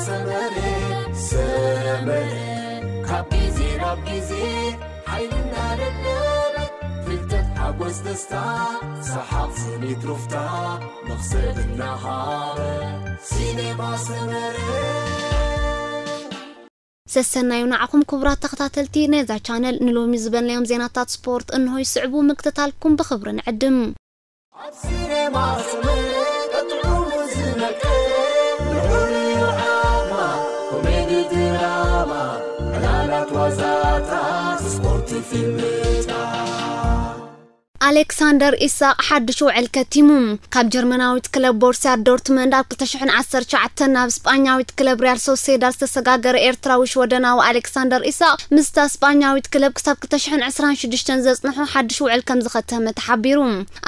ሰመረ ሰመረ ካብ ግዜ ናብ ግዜ ሓይልና ደለበ ፍልጠት ሓጎስ ደስታ ሰሓቕ ስኒት ሩፍታ መኽሰብ እናሃበ ሲኔማ ሰመረ። ሰሰናዩ ንዓኹም ክቡራት ተኸታተልቲ ነዛ ቻነል። ንሎሚ ዝበልናዮም ዜናታት ስፖርት እንሆ ይስዕቡ፣ ምክትታልኩም ብኽብሪ ንዕድም። ኣብ ሲኔማ ሰመረ ቀጥዑሙ ዝመቀ ልዑል እዩ ዓማ ኮሜዲ ድራማ ዕላላት ዋዛታት ስፖርት ፊልምታት ኣሌክሳንደር ኢሳቕ ሓድሽ ውዕል ከቲሙ። ካብ ጀርመናዊት ክለብ ቦርሲያ ዶርትመንድ ኣብ ክልተ ሽሕን ዓሰርተ ትሽዓተን ናብ ስጳኛዊት ክለብ ሪያል ሶሴዳድ ዝተሰጋገረ ኤርትራዊ ሽወደናዊ ኣሌክሳንደር ኢሳቕ ምስታ ስጳኛዊት ክለብ ክሳብ ክልተ ሽሕን ዕስራን ሽዱሽተን ዘጽንሖ ሓድሽ ውዕል ከም ዝኸተመ ተሓቢሩ።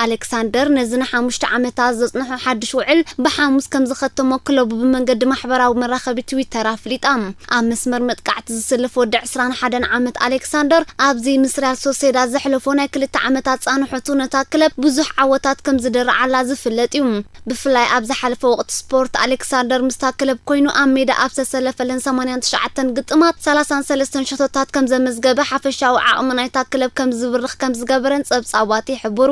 ኣሌክሳንደር ነዚ ንሓሙሽተ ዓመታት ዘጽንሖ ሓድሽ ውዕል ብሓሙስ ከም ዝኸተሞ ክለቡ ብመንገዲ ማሕበራዊ መራኸቢ ትዊተር ኣፍሊጣ። ኣብ መስመር መጥቃዕቲ ዝስልፍ ወዲ ዕስራን ሓደን ዓመት ኣሌክሳንደር ኣብዚ ምስ ሪያል ሶሴዳድ ዘሕለፎ ናይ ክልተ ዓመታት ጻንሖቱ ነታ ክለብ ብዙሕ ዓወታት ከም ዝደረዓላ ዝፍለጥ እዩ። ብፍላይ ኣብ ዝሓለፈ ወቕቲ ስፖርት ኣሌክሳንደር ምስታ ክለብ ኮይኑ ኣብ ሜዳ ኣብ ዝተሰለፈለን ሰማንያን ትሽዓተን ግጥማት ሰላሳን ሰለስተን ሸቶታት ከም ዘመዝገበ ሓፈሻዊ ዓቕሚ ናይታ ክለብ ከም ዝብርኽ ከም ዝገበረን ጸብጻባት ይሕብሩ።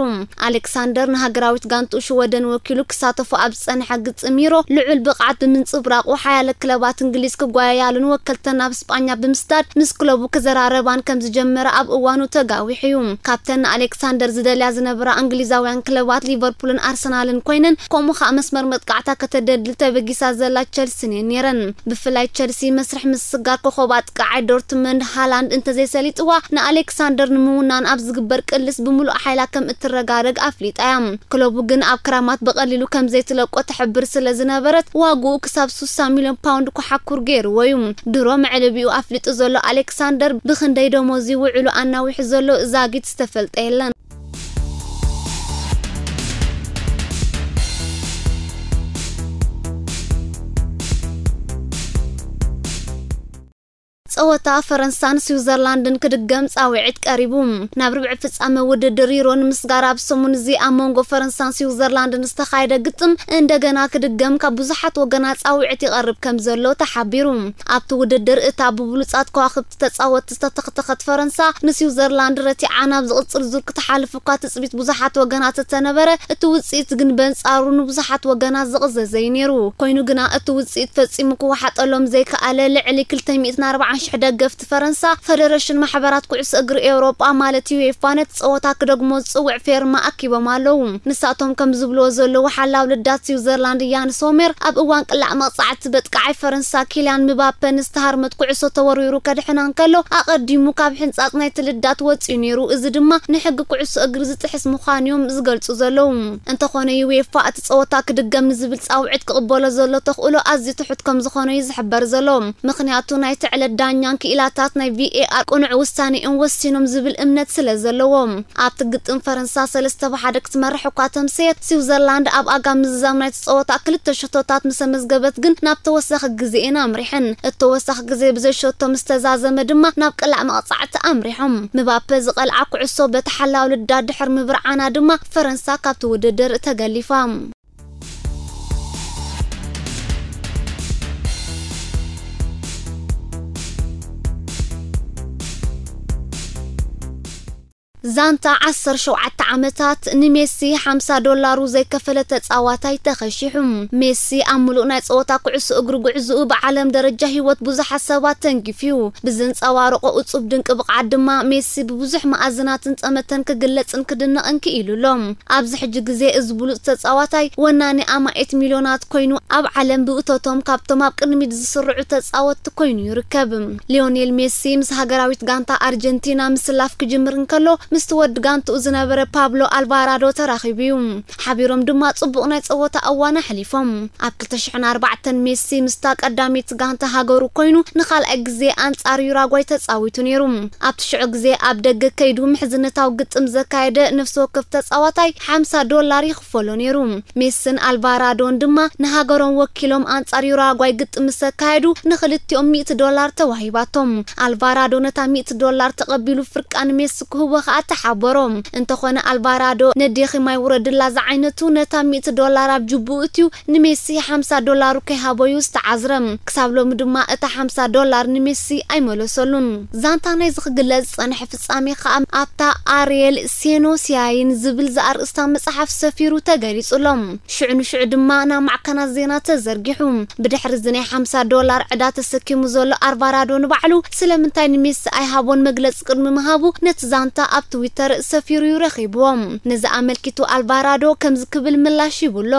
ኣሌክሳንደር ንሃገራዊት ጋንትኡ ሽወደን ወኪሉ ክሳተፎ ኣብ ዝጸንሐ ግጥም ዩሮ ልዑል ብቕዓት ብምንጽብራቑ ሓያለ ክለባት እንግሊዝ ክጓየያሉን ወከልተን ናብ ስጳኛ ብምስዳድ ምስ ክለቡ ክዘራረባን ከም ዝጀመረ ኣብ እዋኑ ተጋዊሑ እዩ። ካብተን ንኣሌክሳንደር ዝደልያ ዝነበራ እንግሊዛውያን ክለባት ሊቨርፑልን ኣርሰናልን ኮይነን፣ ከምኡ ኸኣ መስመር መጥቃዕታ ከተደልድል ተበጊሳ ዘላ ቸልሲን እየን ነይረን። ብፍላይ ቸልሲ መስርሕ ምስስጋር ኮኸብ ኣጥቃዓይ ዶርትመንድ ሃላንድ እንተዘይሰሊጥዋ ንኣሌክሳንደር ንምውናን ኣብ ዝግበር ቅልስ ብምሉእ ሓይላ ከም እትረጋረግ ኣፍሊጣ እያ። ክለቡ ግን ኣብ ክራማት ብቐሊሉ ከም ዘይትለቆ ትሕብር ስለ ዝነበረት ዋግኡ ክሳብ ስሳ ሚልዮን ፓውንድ ኮሓኩር ገይርዎ እዩ። ድሮ መዕለቢኡ ኣፍሊጡ ዘሎ ኣሌክሳንደር ብኽንደይ ደሞዝ እዩ ውዕሉ ኣናዊሑ ዘሎ ዛጊት ዝተፈልጠ የለን። ጸወታ ፈረንሳን ስዊዘርላንድን ክድገም ጻውዒት ቀሪቡ። ናብ ርብዒ ፍጻመ ውድድር ዩሮ ንምስጋር ኣብ ሰሙን እዚ ኣብ መንጎ ፈረንሳን ስዊዘርላንድን ዝተኻየደ ግጥም እንደገና ክድገም ካብ ብዙሓት ወገናት ጻውዒት ይቐርብ ከም ዘሎ ተሓቢሩ። ኣብቲ ውድድር እታ ብብሉጻት ከዋኽብቲ ተጻወትቲ ዝተተኽተኸት ፈረንሳ ንስዊዘርላንድ ረቲዓ ናብ ዝቕጽል ዙር ክትሓልፍ እኳ ትጽቢት ብዙሓት ወገናት እተነበረ፣ እቲ ውጽኢት ግን በንጻሩ ንብዙሓት ወገናት ዝቕዘዘ እዩ ነይሩ። ኮይኑ ግና እቲ ውጽኢት ፈጺሙ ክወሓጠሎም ዘይከኣለ ልዕሊ ክልተ ሚእትን ኣርባዓን ሽሕ ደገፍቲ ፈረንሳ ፈደረሽን ማሕበራት ኩዕሶ እግሪ ኤውሮጳ ማለት ዩኤፋ ነቲ ጸወታ ክደግሞ ዝጽውዕ ፌርማ ኣኪቦም ኣለዉ። ንሳቶም ከም ዝብልዎ ዘለዉ ሓላው ልዳት ስዊዘርላንድ ያን ሶሜር ኣብ እዋን ቅላዕ መቕጻዕቲ በጥቃዓይ ፈረንሳ ኪልያን ምባፐ ንዝተሃርመት ኩዕሶ ተወርዊሩ ከድሕና እንከሎ ኣቐዲሙ ካብ ሕንጻጽ ናይቲ ልዳት ወጺኡ ነይሩ። እዚ ድማ ንሕጊ ኩዕሶ እግሪ ዝጥሕስ ምዃኑ እዮም ዝገልጹ ዘለዉ። እንተኾነ ዩኤፋ እቲ ጸወታ ክድገም ንዝብል ጻውዒት ክቕበሎ ዘሎ ተኽእሎ ኣዝዩ ትሑት ከም ዝኾነ እዩ ዝሕበር ዘሎ። ምኽንያቱ ናይቲ ዕለት ዳኛን ክኢላታት ናይ ቪኤኣር ቅኑዕ ውሳኔ እዮም ወሲኖም ዝብል እምነት ስለ ዘለዎም። ኣብቲ ግጥም ፈረንሳ ሰለስተ ብሓደ ክትመርሕ እኳ ተምሰየት፣ ስዊዘርላንድ ኣብ ኣጋ ምዝዛም ናይቲ ጸወታ ክልተ ሸቶታት ምስ ኣመዝገበት ግን ናብ ተወሳኺ ግዜ እየን ኣምሪሐን። እቲ ተወሳኺ ግዜ ብዘይ ሸቶ ምስ ተዛዘመ ድማ ናብ ቅላዕ መቕጻዕቲ ኣምሪሖም። ምባፔ ዝቐልዓ ኩዕሶ በቲ ሓላው ልዳት ድሕሪ ምብርዓና ድማ ፈረንሳ ካብቲ ውድድር ተገሊፋ። ዛንታ ዓሰርተ ሸውዓተ ዓመታት ንሜሲ ሓምሳ ዶላሩ ዘይከፈለ ተጻዋታይ ተኸሺሑ። ሜሲ ኣብ ምሉእ ናይ ጸወታ ኩዕሶ እግሪ ጉዕዞኡ ብዓለም ደረጃ ህይወት ብዙሓት ሰባት ተንኪፉ እዩ። ብዘንጸባረቖ እጹብ ድንቂ ብቕዓት ድማ ሜሲ ብብዙሕ መኣዝናትን ጠመተን ክግለጽን ክድነቕን ክኢሉ ኣሎ። ኣብዚ ሕጂ ግዜ እዚ ብሉጽ ተጻዋታይ ወናኒ ኣማኢት ሚልዮናት ኮይኑ ኣብ ዓለም ብእቶቶም ካብቶም ኣብ ቅድሚት ዝስርዑ ተጻወትቲ ኮይኑ ይርከብ። ሊዮኔል ሜሲ ምስ ሃገራዊት ጋንታ ኣርጀንቲና ምስላፍ ክጅምር እንከሎ ምስቲ ወዲ ጋንትኡ ዝነበረ ፓብሎ ኣልቫራዶ ተራኺቡ እዩ። ሓቢሮም ድማ ጽቡቕ ናይ ጸወታ እዋን ኣሕሊፎም። ኣብ ክልተ ሽሕን ኣርባዕተን ሜሲ ምስታ ቀዳሚት ጋንታ ሃገሩ ኮይኑ ንኻልኣይ ግዜ ኣንጻር ዩራጓይ ተጻዊቱ ነይሩ። ኣብቲ ሽዑ ግዜ ኣብ ደገ ከይዱ ምሕዝነታዊ ግጥም ዘካየደ ነፍሲ ወከፍ ተጻዋታይ ሓምሳ ዶላር ይኽፈሎ ነይሩ። ሜስን ኣልቫራዶን ድማ ንሃገሮም ወኪሎም ኣንጻር ዩራጓይ ግጥም ምስ ኣካየዱ ንኽልቲኦም ሚእቲ ዶላር ተዋሂባቶም። ኣልቫራዶ ነታ ሚእቲ ዶላር ተቐቢሉ ፍርቃ ንሜሲ ክህቦ ከኣ ተሓበሮ። እንተኾነ ኣልቫራዶ ነዴኺ ማይ ውረድላ ዝዓይነቱ ነታ ሚእቲ ዶላር ኣብ ጅቡኡ እትዩ ንሜሲ ሓምሳ ዶላሩ ከይሃቦ እዩ ዝተዓዝረ። ክሳብ ሎሚ ድማ እታ ሓምሳ ዶላር ንሜሲ ኣይመለሰሉን። ዛንታ ናይዚ ክግለጽ ዝጸንሐ ፍጻሜ ከኣ ኣብታ ኣርየል ሴኖሲያይን ዝብል ዘኣርእስታ መጽሓፍ ሰፊሩ ተገሊጹ ኣሎ። ሽዑ ንሽዑ ድማ ናብ ማዕከናት ዜና ተዘርጊሑ። ብድሕሪ እዚ ናይ ሓምሳ ዶላር ዕዳ ተሰኪሙ ዘሎ ኣልቫራዶ ንባዕሉ ስለምንታይ ንሜሲ ኣይሃቦን መግለጺ ቅድሚ ምሃቡ ነቲ ዛንታ ኣብ ትዊተር ሰፊሩ እዩ ረኺብዎ። ነዚ ኣመልኪቱ ኣልቫራዶ ከምዚ ክብል ምላሽ ሂቡ ኣሎ።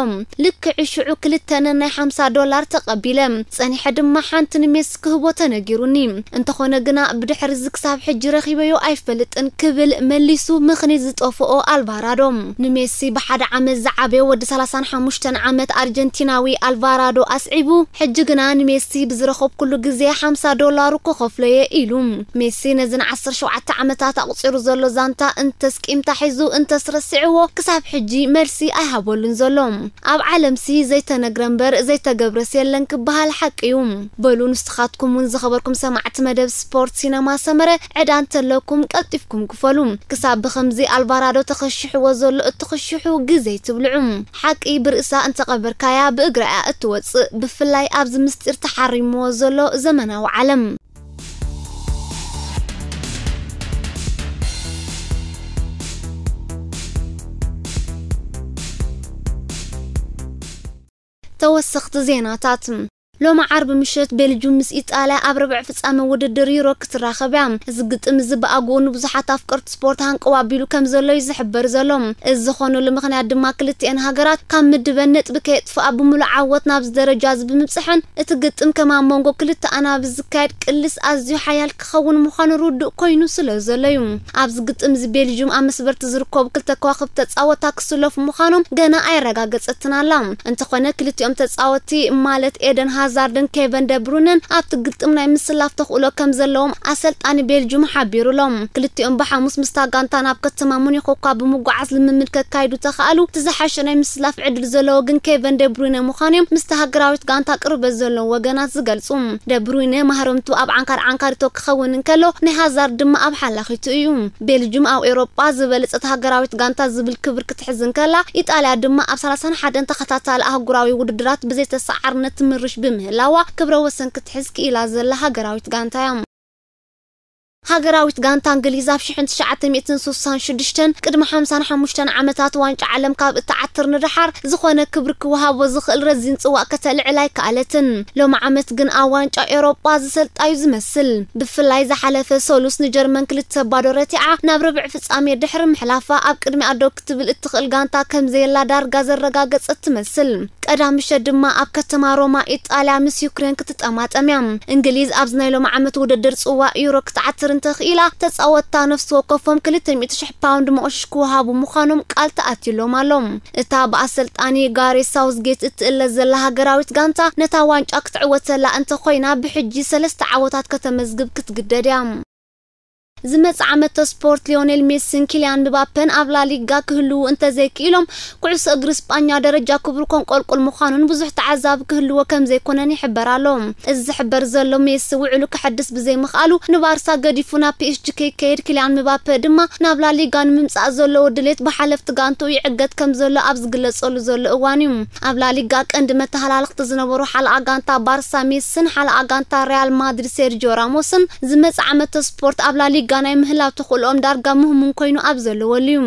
ልክዕ ሽዑ ክልተ ነናይ ሓምሳ ዶላር ተቐቢለ። ጸኒሐ ድማ ሓንቲ ንሜሲ ክህቦ ተነጊሩኒ። እንተኾነ ግና ብድሕሪ እዚ ክሳብ ሕጂ ረኺበዮ ኣይፈልጥን ክብል መሊሱ ምኽኒት ዝጠፍኦ ኣልቫራዶ። ንሜሲ ብሓደ ዓመት ዝዓበየ ወዲ ሰላሳን ሓሙሽተን ዓመት ኣርጀንቲናዊ ኣልቫራዶ ኣስዒቡ፣ ሕጂ ግና ንሜሲ ብዝረኸብኩሉ ግዜ ሓምሳ ዶላሩ ክኸፍሎ እየ ኢሉ። ሜሲ ነዚ ንዓሰርተ ሸውዓተ ዓመታት ኣቑጺሩ ዘሎ ዛንታ እንተስ ቂምታ ሒዙ እንተስ ረሲዕዎ ክሳብ ሕጂ መልሲ ኣይሃበሉን ዘሎ። ኣብ ዓለምሲ ዘይተነግረ እምበር ዘይተገብረስ የለን ክበሃል ሓቂ እዩ። በሉ ንስኻትኩም እውን ዝኸበርኩም ሰማዕቲ መደብ ስፖርት ሲነማ ሰመረ ዕዳ እንተለኩም ቀልጢፍኩም ክፈሉ። ክሳብ ብኸምዚ ኣልቫራዶ ተኸሺሕዎ ዘሎ እትኽሽሑ ግዜ ትብልዑ። ሓቂ ብርእሳ እንተቐበርካያ ብእግራ እያ እትወጽእ። ብፍላይ ኣብዚ ምስጢር ተሓሪምዎ ዘሎ ዘመናዊ ዓለም። ተወሰኽቲ ዜናታት። ሎሚ ዓርቢ ምሸት ቤልጁም ምስ ኢጣልያ ኣብ ርብዕ ፍጻመ ውድድር ዩሮ ክትራኸብ እያ። እዚ ግጥም እዚ ብኣግኡ ንብዙሓት ኣፍቀርቲ ስፖርት ሃንቀው ኣቢሉ ከም ዘሎ እዩ ዝሕበር ዘሎ። እዚ ዝኾነሉ ምኽንያት ድማ ክልቲኤን ሃገራት ካብ ምድበን ነጥቢ ከየጥፍኣ ብምሉእ ዓወት ናብዚ ደረጃ እዚ ብምብጽሐን እቲ ግጥም ከም ኣብ መንጎ ክልተ ኣናብስ ዝካየድ ቅልስ ኣዝዩ ሓያል ክኸውን ምዃኑ ርዱእ ኮይኑ ስለ ዘሎ እዩ። ኣብዚ ግጥም እዚ ቤልጅዩም ኣብ መስበርቲ ዝርከቡ ክልተ ከዋኽብቲ ተጻወታ ክስለፉ ምዃኖም ገና ኣየረጋገጸትን ኣላ። እንተኾነ ክልቲኦም ተጻወቲ ማለት ኤደን ሃዛርድን ኬቨን ደብሩነን ኣብቲ ግጥም ናይ ምስላፍ ተኽእሎ ከም ዘለዎም ኣሰልጣኒ ቤልጅዩም ሓቢሩሎም። ክልቲኦም ብሓሙስ ምስታ ጋንታ ናብ ከተማ ሙኒኽ እኳ ብምጓዓዝ ልምምድ ከካይዱ ተኻእሉ፣ እቲ ዝሓሸ ናይ ምስላፍ ዕድል ዘለዎ ግን ኬቨን ደብሩነ ምዃኑ እዮም ምስቲ ሃገራዊት ጋንታ ቅርበት ዘለዎም ወገናት ዝገልጹ። ደብሩይነ ማህረምቱ ኣብ ዓንካር ዓንካሪቶ ክኸውን እንከሎ፣ ናይ ሃዛርድ ድማ ኣብ ሓላኺቱ እዩ። ቤልጅዩም ኣብ ኤውሮጳ ዝበለጸት ሃገራዊት ጋንታ ዝብል ክብሪ ክትሕዝ እንከላ፣ ኢጣልያ ድማ ኣብ ሰላሳን ሓደን ተኸታታሊ ኣህጉራዊ ውድድራት ብዘይተሰዓርነት ትምርሽ ብምህላዋ ክብረ ወሰን ክትሕዝ ክኢላ ዘላ ሃገራዊት ጋንታ እያ። ሃገራዊት ጋንታ እንግሊዝ ኣብ ሽሕን ትሽዓተ ሚእትን ስሳን ሽዱሽተን ቅድሚ ሓምሳን ሓሙሽተን ዓመታት ዋንጫ ዓለም ካብ እትዓትር ንደሓር ዝኾነ ክብሪ ክወሃቦ ዝኽእል ረዚን ጽዋእ ከተልዕል ኣይከኣለትን። ሎሚ ዓመት ግን ኣብ ዋንጫ ኤውሮጳ ዝሰልጣ እዩ ዝመስል። ብፍላይ ዝሓለፈ ሰሉስ ንጀርመን ክልተ ባዶ ረቲዓ ናብ ርብዒ ፍጻሜ ድሕሪ ምሕላፋ ኣብ ቅድሚኣ ደው ክትብል እትኽእል ጋንታ ከም ዘየላ ዳርጋ ዘረጋገጸት ትመስል። ቀዳም ምሸት ድማ ኣብ ከተማ ሮማ ኢጣልያ ምስ ዩክሬን ክትጠማጠም እያ። እንግሊዝ ኣብዚ ናይ ሎሚ ዓመት ውድድር ጽዋእ ዩሮ ክትዓትር እንተኽኢላ፣ ተጻወትታ ነፍሲ ወከፎም ክልተ ሚእቲ ሽሕ ፓውንድ መቑሽሽ ክወሃቡ ምዃኖም ቃል ተኣትዩሎም ኣሎ። እታ ብኣሰልጣኒ ጋሬት ሳውዝጌት እትእለ ዘላ ሃገራዊት ጋንታ ነታ ዋንጫ ክትዕወተላ እንተኾይና፣ ብሕጂ ሰለስተ ዓወታት ከተመዝግብ ክትግደድ እያ። ዝመጽእ ዓመት ስፖርት ሊዮኔል ሜሲን ኪልያን ምባፔን ኣብ ላሊጋ ክህልዉ እንተዘይክኢሎም፣ ኩዕሶ እግሪ ስጳኛ ደረጃ ክብሩ ከንቆልቁል ምዃኑን ብዙሕ ተዓዛቢ ክህልዎ ከም ዘይኮነን ይሕበር ኣሎ። እዚ ዝሕበር ዘሎ ሜሲ ውዕሉ ከሐድስ ብዘይምኽኣሉ ንባርሳ ገዲፉ ናብ ፒ ኤስ ጂ ከይከይድ፣ ኪልያን ምባፔ ድማ ናብ ላሊጋ ንምምጻእ ዘለዎ ድሌት ብሓለፍቲ ጋንትኡ ይዕገት ከም ዘሎ ኣብ ዝግለጸሉ ዘሎ እዋን እዩ። ኣብ ላሊጋ ቀንዲ መተሃላልኽቲ ዝነበሩ ሓለቓ ጋንታ ባርሳ ሜሲን ሓለቓ ጋንታ ሪያል ማድሪድ ሴርጂዮ ራሞስን ዝመጽእ ዓመት ስፖርት ኣብ ላሊጋ ናይ ምህላው ተኽእሎኦም ዳርጋ ምህሙን ኮይኑ ኣብ ዘለወሉ እዩ።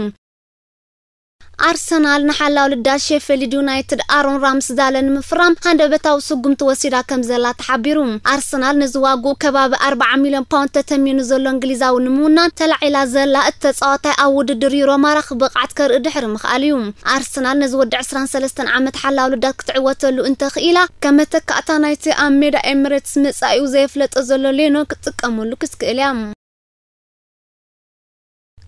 ኣርሰናል ንሓላው ልዳት ሼፊልድ ዩናይትድ ኣሮን ራምስዳለ ንምፍራም ሃንደበታዊ ስጉምቲ ወሲዳ ከም ዘላ ተሓቢሩ። ኣርሰናል ነዚ ዋግኡ ከባቢ ኣርባዓ ሚልዮን ፓውንድ ተተሚኑ ዘሎ እንግሊዛዊ ንምውናን ተላዒላ ዘላ እቲ ተጻዋታይ ኣብ ውድድር ዩሮ ማራኺ ብቕዓት ከርኢ ድሕሪ ምኽኣሉ እዩ። ኣርሰናል ነዚ ወዲ ዕስራን ሰለስተን ዓመት ሓላው ልዳት ክትዕወተሉ እንተኽኢላ፣ ከም መተካእታ ናይቲ ኣብ ሜዳ ኤምሬትስ መጻኢኡ ዘየፍለጠ ዘሎ ሌኖ ክትጥቀመሉ ክትክእል እያ።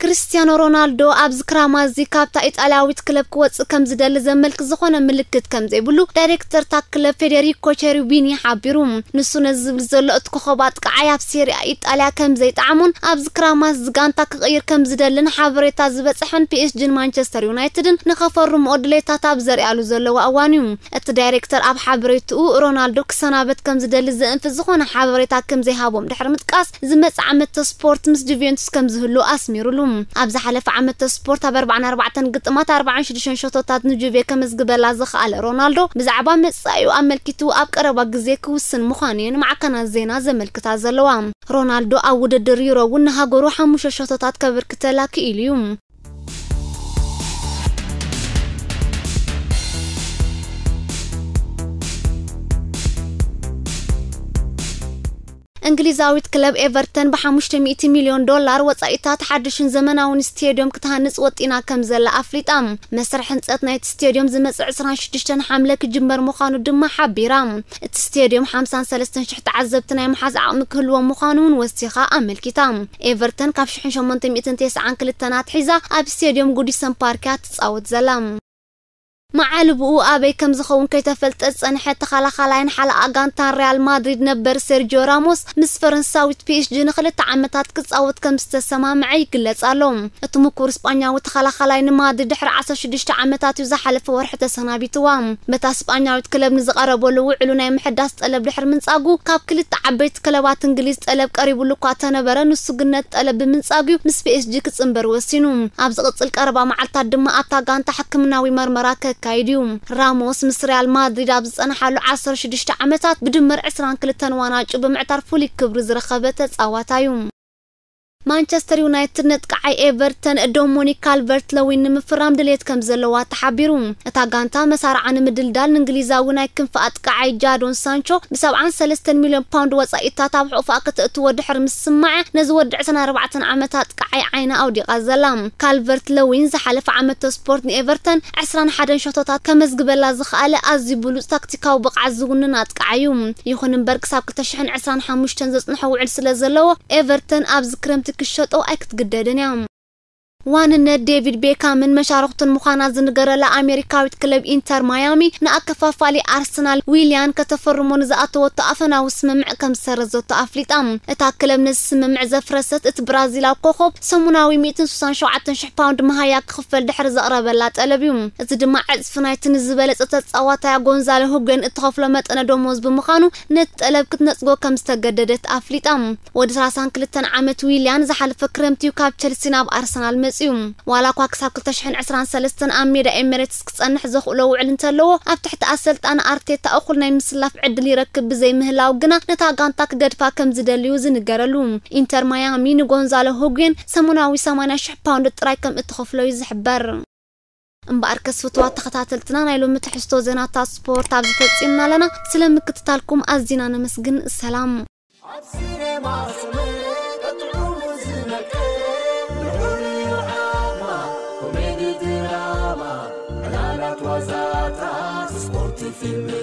ክርስቲያኖ ሮናልዶ ኣብዚ ክራማት እዚ ካብታ ኢጣልያዊት ክለብ ክወጽእ ከም ዝደሊ ዘመልክት ዝኾነ ምልክት ከም ዘይብሉ ዳይሬክተር እታ ክለብ ፌዴሪኮ ቸሪቢኒ ሓቢሩ። ንሱ ነዚ ዝብል ዘሎ እቲ ኮኸብ ኣጥቃዓይ ኣብ ሴሪኣ ኢጣልያ ከም ዘይጠዓሞን ኣብዚ ክራማት እዚ ጋንታ ክቕይር ከም ዝደልን ሓበሬታ ዝበጽሐን ፒ ኤስ ጂን ማንቸስተር ዩናይትድን ንኸፈርምኦ ድሌታት ኣብ ዘርኣሉ ዘለዋ እዋን እዩ። እቲ ዳይሬክተር ኣብ ሓበሬትኡ ሮናልዶ ክሰናበት ከም ዝደሊ ዘእንፍት ዝኾነ ሓበሬታ ከም ዘይሃቦም ድሕሪ ምጥቃስ፣ ዝመጽእ ዓመት ስፖርት ምስ ጁቬንቱስ ከም ዝህሉ ኣስሚሩሉ። ኣብ ዝሓለፈ ዓመት ስፖርት ኣብ ኣርባዓን ኣርባዕተን ግጥማት ኣርባዓን ሽዱሽተን ሸቶታት ንጁቬ ከመዝግበላ ዝኸኣለ ሮናልዶ፣ ብዛዕባ መጻኢኡ ኣመልኪቱ ኣብ ቀረባ ግዜ ክውስን ምዃኑ እየን ማዕከናት ዜና ዘመልክታ ዘለዋ። ሮናልዶ ኣብ ውድድር ዩሮ እውን ንሃገሩ ሓሙሽተ ሸቶታት ከበርክተላ ክኢሉ እዩ። እንግሊዛዊት ክለብ ኤቨርተን ብ500 ሚልዮን ዶላር ወጻኢታት ሓድሽን ዘመናውን ስቴድዮም ክትሃንጽ ወጢና ከም ዘላ ኣፍሊጣ። መስርሕ ህንጸት ናይቲ ስቴድዮም ዝመጽእ ዕስራን ሽዱሽተን ሓምለ ክጅመር ምዃኑ ድማ ሓቢራ። እቲ ስቴድዮም ሓምሳን ሰለስተን ሽሕ ተዓዘብቲ ናይ ምሓዝ ዓቕሚ ክህልዎ ምዃኑ እውን ወሲኻ ኣመልኪታ። ኤቨርተን ካብ ሽሕን ሸሞንተ ሚእትን ተስዓን ክልተን ኣትሒዛ ኣብ ስቴድዮም ጉዲሰን ፓርክ እያ ትጻወት ዘላ። መዓልብኡ ኣበይ ከም ዝኸውን ከይተፈልጠ ዝጸንሐ ተኸላኻላይን ሓለቓ ጋንታን ሪያል ማድሪድ ነበር ሴርጂዮ ራሞስ፣ ምስ ፈረንሳዊት ፒ ኤስ ጂ ንኽልተ ዓመታት ክጻወት ከም ዝተሰማምዐ ይግለጽ ኣሎ። እቲ ምኩር ስጳኛዊ ተኸላኻላይ ንማድሪድ ድሕሪ ዓሰርተ ሽዱሽተ ዓመታት እዩ ዝሓለፈ ወርሒ ተሰናቢትዋ። በታ ስጳኛዊት ክለብ ንዝቐረበሉ ውዕሉ ናይ ምሕዳስ ጠለብ ድሕሪ ምንጻጉ፣ ካብ ክልተ ዓበይቲ ክለባት እንግሊዝ ጠለብ ቀሪቡሉ እኳ ተነበረ፣ ንሱ ግን ነቲ ጠለብ ብምንጻጉ ምስ ፒ ኤስ ጂ ክጽንበር ወሲኑ። ኣብ ዝቕጽል ቀረባ መዓልታት ድማ ኣብታ ጋንታ ሕክምናዊ መርመራ ከካይድ እዩ። ራሞስ ምስ ሪያል ማድሪድ ኣብ ዝጸንሓሉ ዓሰርተ ሽዱሽተ ዓመታት ብድምር ዕስራን ክልተን ዋናጩ ብምዕታር ፍሉይ ክብሪ ዝረኸበ ተጻዋታይ እዩ። ማንቸስተር ዩናይትድ ነጥቃዓይ ኤቨርተን ዶሞኒክ ካልቨርት ለዊን ንምፍራም ድሌት ከም ዘለዋ ተሓቢሩ። እታ ጋንታ መሳርዓ ንምድልዳል ንእንግሊዛዊ ናይ ክንፊ ኣጥቃዓይ ጃዶን ሳንቾ ብ73 ሚልዮን ፓውንድ ወጻኢታት ኣብ ሕቑፋ ከተእትዎ ድሕሪ ምስማዕ፣ ነዚ ወዲ ዕስራን ኣርባዕተን ዓመት ኣጥቃዓይ ዓይና ኣውዲቓ ዘላ። ካልቨርት ለዊን ዝሓለፈ ዓመት ስፖርት ንኤቨርተን ዕስራን ሓደን ሸቶታት ከመዝግበላ ዝኸኣለ ኣዝዩ ብሉጽ ታክቲካዊ ብቕዓት ዝውንን ኣጥቃዓይ እዩ። ይኹን እምበር ክሳብ ክልተ ሽሕን ዕስራን ሓሙሽተን ዘጽንሖ ውዕል ስለ ዘለዎ፣ ኤቨርተን ኣብዚ ክረምቲ ክሸጦ ኣይክትግደድን እያ። ዋንነት ዴቪድ ቤካምን መሻርኽቱን ምዃና ዝንገረላ ኣሜሪካዊት ክለብ ኢንተር ማያሚ፣ ንኣከፋፋሊ ኣርሰናል ዊልያን ከተፈርሞ ንዝኣተወቶ ኣፈናዊ ስምምዕ ከም ዝሰረዘቶ ኣፍሊጣ። እታ ክለብ ነዚ ስምምዕ ዘፍረሰት፣ እቲ ብራዚላዊ ኮኾብ ሰሙናዊ ሚእትን ስሳን ሸውዓተን ሽሕ ፓውንድ መሃያ ክኽፈል ድሕሪ ዘቕረበላ ጠለብ እዩ። እዚ ድማ ዕጽፊ ናይቲ ንዝበለጸ ተጻዋታያ ጎንዛሎ ሁጎን እትኸፍሎ መጠነ ደሞዝ ብምዃኑ፣ ነቲ ጠለብ ክትነጽጎ ከም ዝተገደደት ኣፍሊጣ። ወዲ ሰላሳን ክልተን ዓመት ዊልያን ዝሓለፈ ክረምቲ እዩ ካብ ቸልሲ ናብ ኣርሰናል መጺኡ። ዋላ እኳ ክሳብ ክልተ ሽሕን ዕስራን ሰለስተን ኣብ ሜዳ ኤሚሬትስ ክጸንሕ ዘኽእሎ ውዕል እንተለዎ፣ ኣብ ትሕቲ ኣሰልጣኒ ኣርቴታ እኹል ናይ ምስላፍ ዕድል ይረክብ ብዘይምህላው ግና፣ ነታ ጋንታ ክገድፋ ከም ዝደልዩ ዝንገረሉ። ኢንተር ማያሚ ንጎንዛሎ ሁጉየን ሰሙናዊ ሰማንያ ሽሕ ፓውንድ ጥራይ ከም እትኸፍሎ እዩ ዝሕበር። እምበኣር ከስፍትዋ ተኸታተልትና፣ ናይ ሎሚ ትሕዝቶ ዜናታት ስፖርት ኣብዚ ፈጺምና ኣለና። ስለ ምክትታልኩም ኣዚና ነመስግን። ሰላም። ኣብ ሲኔማ ሰመረ ጥዑሙ ዝነቅል ልዑል እዩ ዓቕማ። ኮሜዲ ድራማ፣ ዕላላት ዋዛታት፣ ስፖርት ፊልም